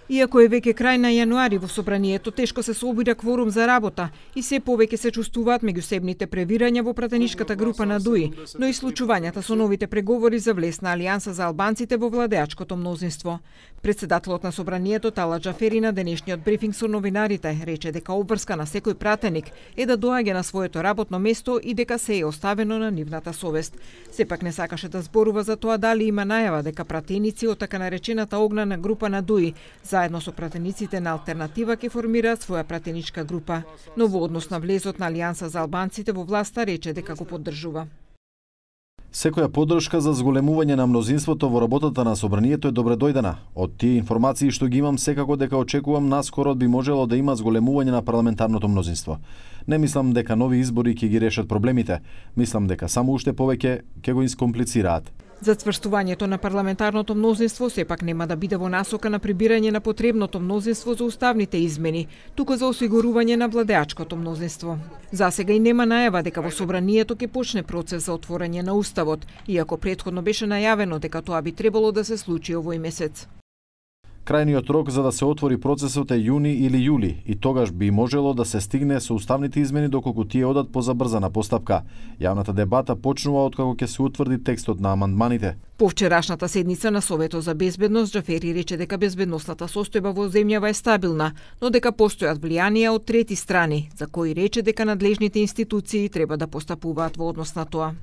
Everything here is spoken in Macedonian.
Иако е веќе крај на јануари, во собранието тешко се собира кворум за работа и се повеќе се чувствуваат меѓусебните превирања во пратеничката група на ДУИ, но и случувањата со новите преговори за влез на Алијанса за албанците во владеачкото мнозинство. Председателот на собранието Талат Џафери на денешниот брифинг со новинарите рече дека обврска на секој пратеник е да доаѓа на своето работно место и дека се е оставено на нивната совест. Сепак не сакаше да зборува за тоа дали има најава дека пратеници од така наречената огнена група на ДУИ заедно со пратениците на Алтернатива ќе формираат своја пратеничка група. Но во однос на влезот на Алијанса за албанците во власта рече дека го поддржува. Секоја поддршка за зголемување на мнозинството во работата на собранието е добре дојдена. Од тие информации што ги имам, секако дека очекувам наскоро би можело да има зголемување на парламентарното мнозинство. Не мислам дека нови избори ќе ги решат проблемите. Мислам дека само уште повеќе ќе го искомплицираат. Зацврстувањето на парламентарното мнозинство сепак нема да биде во насока на прибирање на потребното мнозинство за уставните измени, туку за осигурување на владеачкото мнозинство. Засега и нема најава дека во собранието ќе почне процес за отворање на уставот, иако претходно беше најавено дека тоа би требало да се случи овој месец. Крајниот рок за да се отвори процесот е јуни или јули и тогаш би можело да се стигне со уставните измени доколку тие одат по забрзана постапка. Јавната дебата почнува откако ќе се утврди текстот на амандманите. По вчерашната седница на Советот за безбедност, Џафери рече дека безбедносната состојба во земјава е стабилна, но дека постојат влијанија од трети страни, за кои рече дека надлежните институции треба да постапуваат во однос на тоа.